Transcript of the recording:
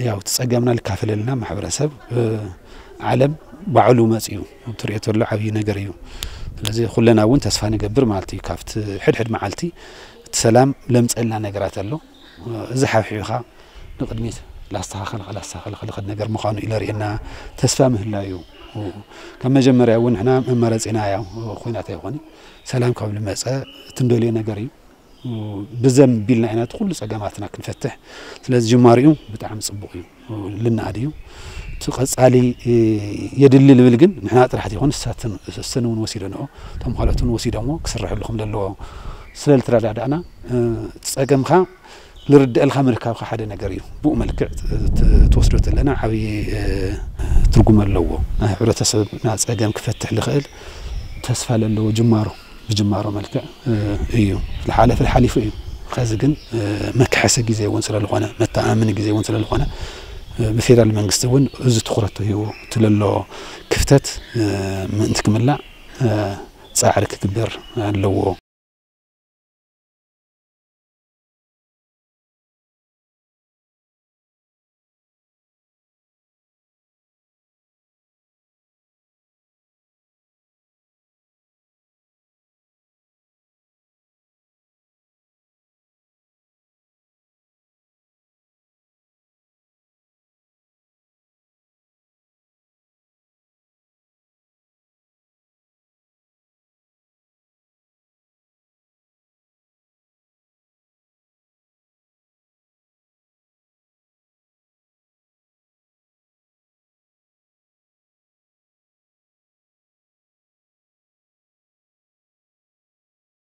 ያው እቲ ጸገምና ልካፈለልና ማሕበረሰብ ዓለም ባዕሉ መጽዩ ትሪኦ ተሎ ዓብዪ ነገር እዩ። ስለዚ ኩለና እውን ተስፋ ንገብር ማለት እዩ ካብቲ ሕድሕድ መዓልቲ እቲ ሰላም ለምጸልና ነገራት ኣሎ። እዚ ሓብሒብኻ ንቕድሚት ላስተኻኸል ላስተኻኸል ክልኸድ ነገር ምዃኑ እዩ ለርእየና። ተስፋ ምህላዩ ካብ መጀመርያ እውን ንሕና መመረፂና ያው ኩናት ኣይኾነ ሰላም ካብ ልመፀ እቲ ንደልዮ ነገር እዩ። ብዘም ቢልና ኢና እቲ ኩሉ ጸገማትና ክንፈትሕ። ስለዚ ጅማሪኡ ብጣዕሚ ጽቡቕ እዩ፣ ልንኣድ እዩ። እቲ ቀጻሊ የድሊ ልብል ግን ንሕና ጥራሕ ዘይኮነ እሳትን እሰን እውን ወሲደንኦ እቶም ካልኦት እውን ወሲዶሞ ክስርሐሉ ከም ዘለዎ ስለ ልተረዳዳእና እቲ ጸገምካ ልርድአልካ ምርካብካ ሓደ ነገር እዩ። ብኡ መልክዕ ትወስዶ ተለና ዓብዪ ትርጉም ኣለዎ። ናይ ሕብረተሰብና ጸገም ክፈትሕ ልኽእል ተስፋ ለለዎ ጅማሮ ብጅማሮ መልክዕ እዩ። ዝሓለፈ ሓሊፉ እዩ። ከዚ ግን መክሐሲ ግዜ እውን ስለልኾነ መተኣማመኒ ግዜ እውን ስለልኾነ ብፌደራል መንግስቲ እውን እዚ ትኹረት ተሂቡ እቲ ለሎ ክፍተት ምእንቲ ክምላእ ፃዕሪ ክግበር ኣለዎ።